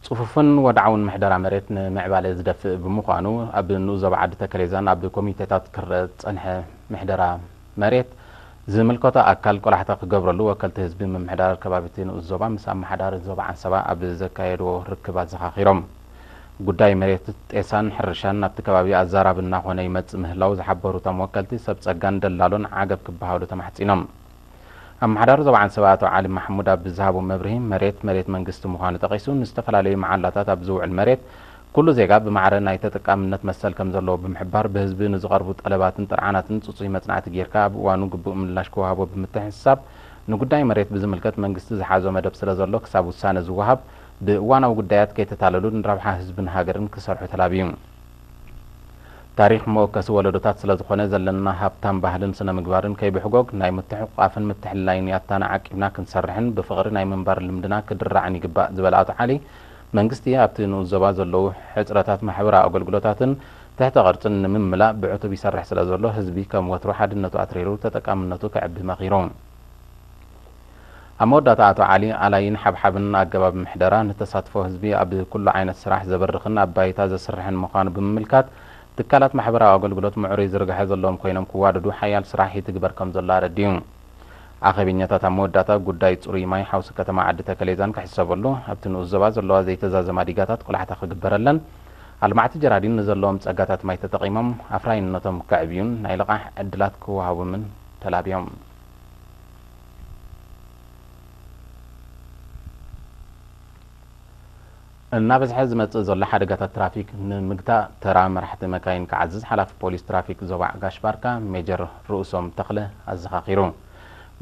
ጽፉፍን ወድዓውን ምሕደራ መሬት ንምዕባለ ዝደፍእ ብምዃኑ፣ ኣብ ንኡስ ዞባ ዓዲ ተከሌዛን ኣብ ኮሚቴታት ክረአ ዝጸንሐ ምሕደራ መሬት ዝምልከቶ ኣካል ቆላሕታ ክገብረሉ ወከልቲ ህዝቢ ምምሕዳር ከባቢቲ ንኡስ ዞባ ምስ ኣመሓዳሪ ዞባ ዓንሰባ ኣብ ዘካየድዎ ርክብ ኣዘኻኺሮም። ጉዳይ መሬት ጤሳን ሕርሻን ናብቲ ከባቢ ኣዛራቢ እናኾነ ይመጽእ ምህላው ዝሓበሩ እቶም ወከልቲ፣ ሰብ ጸጋን ደላሎን ዓገብ ክበሃሉ ተማሕጺኖም። ኣመሓዳሪ ዞባ ዓንሰባ ኣቶ ዓሊ ማሕሙድ ኣብ ዝሃቦ መብርሂ፣ መሬት መሬት መንግስቲ ምዃኑ ጠቒሱ፣ ንዝተፈላለዩ መዓላታት ኣብ ዝውዕል መሬት ኩሉ ዜጋ ብማዕረ ናይ ተጠቃምነት መሰል ከም ዘለዎ ብምሕባር፣ ብህዝቢ ንዝቐርቡ ጠለባትን ጥርዓናትን ጽጹይ መጽናዕቲ ጌርካ ኣብ እዋኑ ግቡእ ምላሽ ክወሃቦ ብምትሕስሳብ፣ ንጉዳይ መሬት ብዝምልከት መንግስቲ ዝሓዞ መደብ ስለ ዘሎ፣ ክሳብ ውሳነ ዝወሃብ ብእዋናዊ ጉዳያት ከይተታለሉ ንረብሓ ህዝብን ሃገርን ክሰርሑ ተላብዩ። ታሪኽ መወከሲ ወለዶታት ስለ ዝኾነ፣ ዘለና ሃብታም ባህልን ስነ ምግባርን ከይብሕጎግ ናይ ምትሕቑቓፍን ምትሕልላይን ያታና ዓቂብና ክንሰርሕን ብፍቕሪ ናይ ምንባር ልምድና ክድራዕን ይግባእ ዝበለ ኣቶ ዓሊ፣ መንግስቲ ኣብቲ ንኡስ ዞባ ዘለዉ ሕጽረታት ማሕበራዊ ኣገልግሎታትን ትሕተ ቅርጽን ንምምላእ ብዕቱብ ይሰርሕ ስለ ዘሎ፣ ህዝቢ ከም ወትሩ ሓድነቱ ኣትሪሩ ተጠቃምነቱ ከዕቢ መኺሩ። ኣብ መወዳእታ ኣቶ ዓሊ፣ ኣላይን ሓብሓብን ኣገባብ ምሕደራ ንተሳትፎ ህዝቢ ኣብ ኩሉ ዓይነት ስራሕ ዘበርኽን ኣብ ባይታ ዘስርሕን ምዃኑ ብምምልካት፣ ትካላት ማሕበራዊ ኣገልግሎት ምዕሩይ ዝርግሐ ዘለዎም ኮይኖም ክዋደዱ ሓያል ስራሕ ይትግበር ከም ዘሎ ኣረዲኡ። ኣኼበኛታት ኣብ መወዳእታ ጉዳይ ጽሩይ ማይ ሓውሲ ከተማ ዓዲ ተከሌዛን ክሕሰበሉ፣ ኣብቲ ንኡስ ዞባ ዘለዋ ዘይተዛዘማ ዲጋታት ቆላሕታ ክግበረለን፣ ኣልማዕቲ ጀራዲን ንዘለዎም ጸጋታት ማይ ተጠቒሞም ኣፍራይነቶም ከዕብዩን ናይ ልቓሕ ዕድላት ክወሃቦምን ተላብዮም። እናበዝሐ ዝመጽእ ዘሎ ሓደጋታት ትራፊክ ንምግታእ፣ ተራ መራሕቲ መካይን ክዓዝዝ ሓላፊ ፖሊስ ትራፊክ ዞባ ዓጋሽ ባርካ ሜጀር ርእሶም ተኽለ ኣዘኻኺሩ።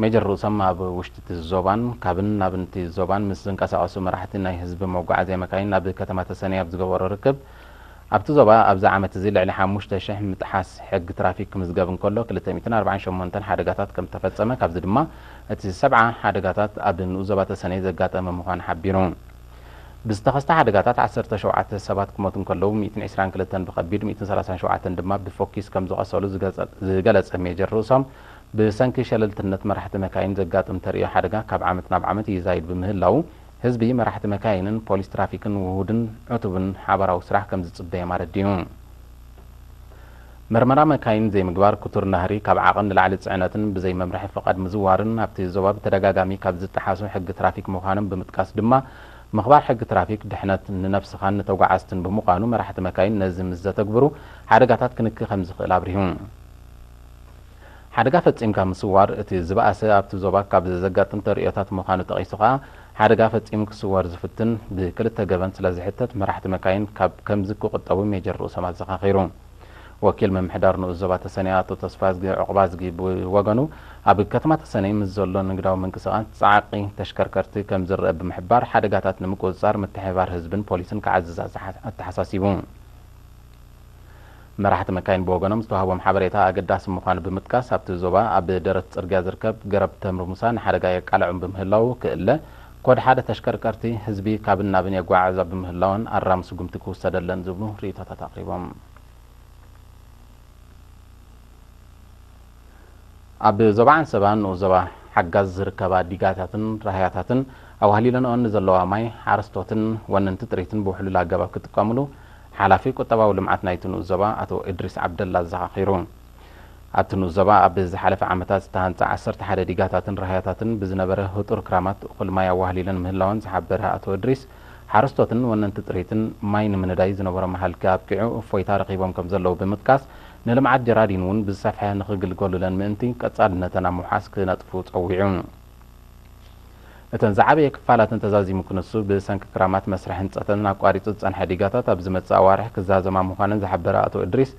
ሜጀር ርእሶም ኣብ ውሽጢ እቲ ዞባን ካብን ናብን እቲ ዞባን ምስ ዝንቀሳቐሱ መራሕቲ ናይ ህዝቢ መጓዓዝያ መካይን ናብ ከተማ ተሰነይ ኣብ ዝገበሮ ርክብ፣ ኣብቲ ዞባ ኣብዚ ዓመት እዚ ልዕሊ ሓሙሽተ ሽሕ ምጥሓስ ሕጊ ትራፊክ ክምዝገብ እንከሎ፣ ክልተ ሚእትን ኣርባዓን ሸሞንተን ሓደጋታት ከም ዝተፈጸመ፣ ካብዚ ድማ እቲ ሰብዓ ሓደጋታት ኣብ ንኡስ ዞባ ተሰነይ ዘጋጠመ ምዃኑ ሓቢሩ። ብዝተኸስተ ሓደጋታት ዓሰርተ ሸውዓተ ሰባት ክሞቱ እንከለዉ፣ ሚእትን ዕስራን ክልተን ብኸቢድ፣ ሚእትን ሰላሳን ሸውዓተን ድማ ብፎኪስ ከም ዝቖሰሉ ዝገጸ-፣ ዝገለጸ ሜጀር ርእሶም፣ ብሰንኪ ሸለልትነት መራሕቲ መካይን ዘጋጥም ተርእዮ ሓደጋ ካብ ዓመት ናብ ዓመት ይዛይድ ብምህላዉ፣ ህዝቢ፣ መራሕቲ መካይንን ፖሊስ ትራፊክን ውሁድን ዕቱብን ሓባራዊ ስራሕ ከም ዝጽበዮም ኣረዲኡ። መርመራ መካይን ዘይምግባር፣ ክቱር ናህሪ፣ ካብ ዓቐን ንላዕሊ ጽዕነትን ብዘይ መምርሒ ፍቓድ ምዝዋርን ኣብቲ ዞባ ብተደጋጋሚ ካብ ዝጠሓሱ ሕጊ ትራፊክ ምዃኖም ብምጥቃስ ድማ፣ ምኽባር ሕጊ ትራፊክ ድሕነት ንነብስኻን ንተጓዓዝትን ብምዃኑ፣ መራሕቲ መካይን ነዚ ምስ ዘተግብሩ ሓደጋታት ክንኪ ከም ዝኽእል ኣብሪሁ። ሓደጋ ፈጺምካ ምስዋር እቲ ዝበኣሰ ኣብቲ ዞባ ካብ ዘጋጥም ተርእዮታት ምዃኑ ጠቒሱ ከኣ፣ ሓደጋ ፈጺሙ ክስወር ዝፍትን ብክልተ ገበን ስለ ዝሕተት፣ መራሕቲ መካይን ካብ ከምዚ ክቑጠቡ ሜጀር ርእሶም ኣዘኻኺሩ። ወኪል ምምሕዳር ንኡስ ዞባ ተሰነይ ኣቶ ተስፋዝጊ ዑቕባዝጊ ብወገኑ፣ ኣብ ከተማ ተሰነይ ምስ ዘሎ ንግዳዊ ምንቅስቓስ ጻዕቒ ተሽከርከርቲ ከም ዝረአ ብምሕባር፣ ሓደጋታት ንምቁጽጻር ምትሕብባር ህዝብን ፖሊስን ክዓዝዝ ኣዘሓ-፣ ኣተሓሳሲቡ። መራሕቲ መካይን ብወገኖም ዝተዋህቦም ሓበሬታ ኣገዳሲ ምዃኑ ብምጥቃስ፣ ኣብቲ ዞባ ኣብ ደረት ጽርግያ ዝርከብ ገረብ ተምሪ ሙሳ ንሓደጋ የቃልዖም ብምህላዉ ክእለ፣ ኮድ ሓደ ተሽከርከርቲ ህዝቢ ካብን ናብን የጓዓዕዛ ብምህላወን ኣራሚ ስጉምቲ ክውሰደለን ዝብሉ ርእይቶታት ኣቕሪቦም። ኣብ ዞባ ዓንሰባ ንኡስ ዞባ ሓጋዝ ዝርከባ ዲጋታትን ራህያታትን ኣዋህሊለንኦን ንዘለዋ ማይ ሓረስቶትን ወነንቲ ጥሪትን ብውሕሉል ኣገባብ ክጥቀምሉ ሓላፊ ቁጠባዊ ልምዓት ናይቲ ንኡስ ዞባ ኣቶ እድሪስ ዓብደላ ኣዘኻኺሩ። ኣብቲ ንኡስ ዞባ ኣብ ዝሓለፈ ዓመታት ዝተሃንጻ ዓሰርተ ሓደ ዲጋታትን ራህያታትን ብዝነበረ ህጡር ክራማት እኹል ማይ ኣዋህሊለን ምህላወን ዝሓበረ ኣቶ እድሪስ፣ ሓረስቶትን ወነንቲ ጥሪትን ማይ ንምንዳይ ዝነበሮም ሃልኪ ኣብቂዑ እፎይታ ረኺቦም ከም ዘለዉ ብምጥቃስ፣ ንልምዓት ጀራዲን እውን ብዝሰፍሐ ንኽግልገሉለን ምእንቲ ቀጻልነተን ኣብ ምውሓስ ክነጥፉ ጸዊዑ። እተን ዝዓበየ ክፋላተን ተዛዚሙ ክንሱ፣ ብሰንኪ ክራማት መስርሕ ህንጸተን ኣቋሪጹ ዝጸንሐ ዲጋታት ኣብ ዝመጽእ ኣዋርሕ ክዛዘማ ምዃነን ዝሓበረ ኣቶ እድሪስ፣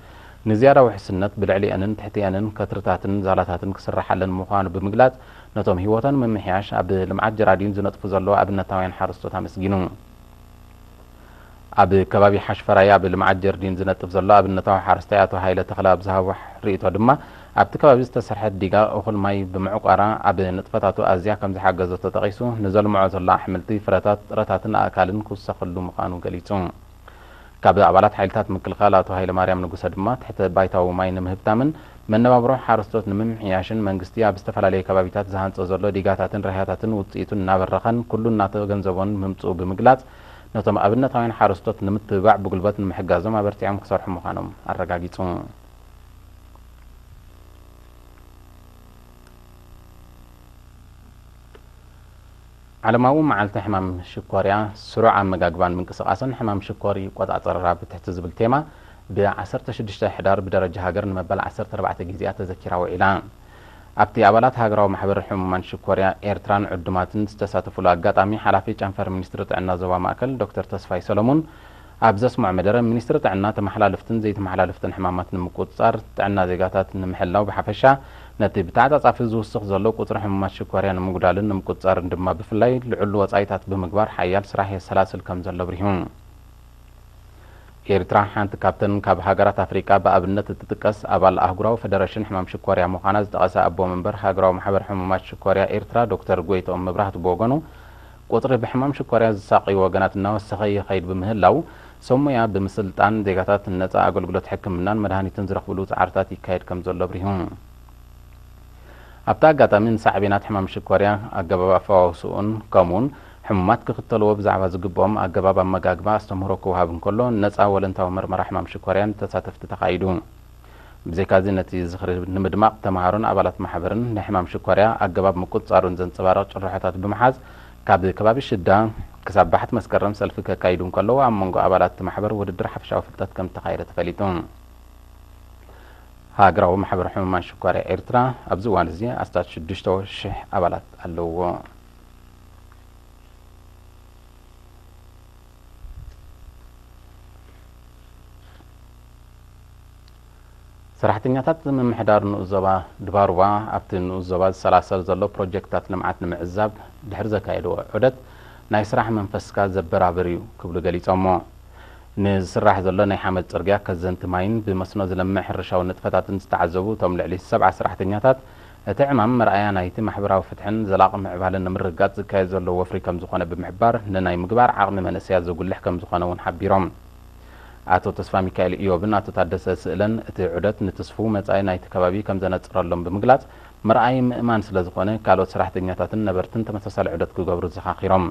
ንዝያዳ ውሕስነት ብልዕሊአንን ትሕቲአንን ከትርታትን ዛላታትን ክስርሓለን ምዃኑ ብምግላጽ፣ ነቶም ህይወቶም ንምምሕያሽ ኣብ ልምዓት ጀራዲን ዝነጥፉ ዘለዉ ኣብነታውያን ሓረስቶት ኣመስጊኑ። ኣብ ከባቢ ሓሽፈራይ ኣብ ልምዓት ጀርዲን ዝነጥፍ ዘሎ ኣብነታዊ ሓረስታይ ኣቶ ሃይለ ተኽለ ኣብ ዝሃቦ ርእይቶ ድማ፣ ኣብቲ ከባቢ ዝተሰርሐት ዲጋ እኹል ማይ ብምዕቋራ ኣብ ንጥፈታቱ ኣዝያ ከም ዝሓገዘቶ ጠቒሱ፣ ንዘልምዖ ዘሎ ኣሕምልቲ፣ ፍረታት፣ ጥረታትን ኣእካልን ክውሰኸሉ ምዃኑ ገሊጹ። ካብ ኣባላት ሓይልታት ምክልኻል ኣቶ ሃይለማርያም ንጉሰ ድማ፣ ትሕተ ባይታዊ ማይ ንምህብታምን መነባብሮ ሓረስቶት ንምምሕያሽን መንግስቲ ኣብ ዝተፈላለዩ ከባቢታት ዝሃንጾ ዘሎ ዲጋታትን ራህያታትን ውጽኢቱ እናበረኸን ኩሉ እናተገንዘቦን ምምጽኡ ብምግላጽ፣ ነቶም ኣብነታውያን ሓረስቶት ንምትብባዕ ብጉልበት ንምሕጋዞም ኣበርቲዖም ክሰርሑ ምዃኖም ኣረጋጊጹ። ዓለማዊ መዓልቲ ሕማም ሽኮርያ፣ ስሩዕ ኣመጋግባን ምንቅስቓስን ሕማም ሽኮር ይቆጻጸር ኣብ ትሕቲ ዝብል ቴማ፣ ብ16 ሕዳር ብደረጃ ሃገር ንመበል 14 ግዜኣ ተዘኪራ ውዒላ። ኣብቲ ኣባላት ሃገራዊ ማሕበር ሕሙማን ሽኮርያ ኤርትራን ዕዱማትን ዝተሳተፉሉ ኣጋጣሚ፣ ሓላፊ ጨንፈር ሚኒስትሪ ጥዕና ዞባ ማእከል ዶክተር ተስፋይ ሰለሙን ኣብ ዘስምዖ መደረ፣ ሚኒስትሪ ጥዕና ተመሓላልፍትን ዘይተመሓላልፍትን ሕማማት ንምቁጽጻር፣ ጥዕና ዜጋታት ንምሕላው ብሓፈሻ፣ ነቲ ብተዓጻጻፊ ዝውስኽ ዘሎ ቁጽሪ ሕሙማት ሽኮርያ ንምጉዳልን ንምቁጽጻርን ድማ ብፍላይ ልዑል ወጻኢታት ብምግባር ሓያል ስራሕ የሰላስል ከም ዘሎ ኣብሪሁ። ኤርትራ ሓንቲ ካብተን ካብ ሃገራት ኣፍሪቃ ብኣብነት እትጥቀስ ኣባል ኣህጉራዊ ፈደረሽን ሕማም ሽኮርያ ምዃና ዝጠቐሰ ኣቦ መንበር ሃገራዊ ማሕበር ሕሙማት ሽኮርያ ኤርትራ ዶክተር ጎይትኦም መብራህቱ ብወገኑ፣ ቁጽሪ ብሕማም ሽኮርያ ዝሳቐዩ ወገናት እናወሰኸ ይኸይድ ብምህላው፣ ሰብ ሞያ ብምስልጣን ዜጋታት ነጻ ኣገልግሎት ሕክምናን መድሃኒትን ዝረኽብሉ ጻዕርታት ይካየድ ከም ዘሎ ኣብሪሁ። ኣብቲ ኣጋጣሚ ንሳዕቤናት ሕማም ሽኮርያ፣ ኣገባብ ኣፈዋውስኡን ከምኡውን ሕሙማት ክኽተልዎ ብዛዕባ ዝግብኦም ኣገባብ ኣመጋግባ ኣስተምህሮ ክወሃብ እንከሎ፣ ነጻ ወለንታዊ መርመራ ሕማም ሽኮርያን ተሳተፍቲ ተኻይዱ። ብዘይካዚ ነቲ ዝኽሪ ንምድማቕ ተምሃሮን ኣባላት ማሕበርን ንሕማም ሽኮርያ ኣገባብ ምቁጽጻሩን ዘንጸባርቕ ጭርሖታት ብምሓዝ ካብ ከባቢ ሽዳ ክሳብ ባሕቲ መስከረም ሰልፊ ከካይዱ እንከለዉ ኣብ መንጎ ኣባላት እቲ ማሕበር ውድድር ሓፈሻዊ ፍልጠት ከም እተኻየደ ተፈሊጡ። ሃገራዊ ማሕበር ሕሙማን ሽኮርያ ኤርትራ ኣብዚ እዋን እዚ ኣስታት ሽዱሽተ ሽሕ ኣባላት ኣለውዎ። ሰራሕተኛታት ምምሕዳር ንኡስ ዞባ ድባሩባ ኣብቲ ንኡስ ዞባ ዝሰላሰል ዘሎ ፕሮጀክትታት ልምዓት ንምዕዛብ ድሕሪ ዘካየድዎ ዑደት ናይ ስራሕ መንፈስካ ዘበራብር እዩ ክብሉ ገሊጾሞ። ንዝስራሕ ዘሎ ናይ ሓመድ ጽርግያ ከዘንቲ ማይን ብመስኖ ዝለምዕ ሕርሻዊ ንጥፈታትን ዝተዓዘቡ እቶም ልዕሊ ሰብዓ ሰራሕተኛታት እቲ ዕማም መርኣያ ናይቲ ማሕበራዊ ፍትሕን ዘላቒ ምዕባለን ንምርግጋጽ ዝካየድ ዘሎ ወፍሪ ከም ዝኾነ ብምሕባር ንናይ ምግባር ዓቕሚ መንእሰያት ዘጉልሕ ከም ዝኾነ እውን ሓቢሮም። ኣቶ ተስፋ ሚካኤል ኢዮብን ኣቶ ታደሰ ስእለን እቲ ዑደት ንትስፉው መጻኢ ናይቲ ከባቢ ከም ዘነጽረሎም ብምግላጽ፣ ምርኣይ ምእማን ስለ ዝኾነ፣ ካልኦት ሰራሕተኛታትን ነበርትን ተመሳሳሊ ዑደት ክገብሩ ዘኻኺሮም።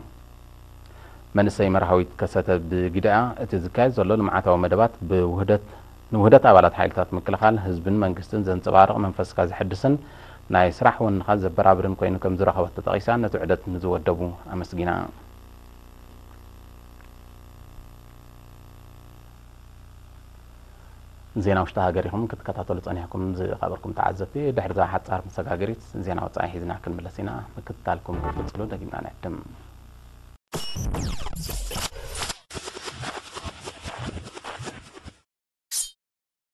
መንእሰይ መርሃዊት ከሰተ ብግደኣ፣ እቲ ዝካየድ ዘሎ ልምዓታዊ መደባት ብውህደት ንውህደት ኣባላት ሓይልታት ምክልኻል ህዝብን መንግስትን ዘንጸባርቕ መንፈስካ ዘሐድስን ናይ ስራሕ ወንኻ ዘበራብርን ኮይኑ ከም ዝረኸበቶ ጠቒሳ፣ ነቲ ዑደት ንዝወደቡ ኣመስጊና። ዜና ውሽጢ ሃገር ኢኹም ክትከታተሉ ጸኒሕኩም ዝኸበርኩም ተዓዘብቲ። ድሕሪ እዛ ሓጻር መሰጋገሪት ዜና ወጻኢ ሒዝና ክንምለስ ኢና። ምክትታልኩም ክትቅጽሉ ደጊምና ንዕድም።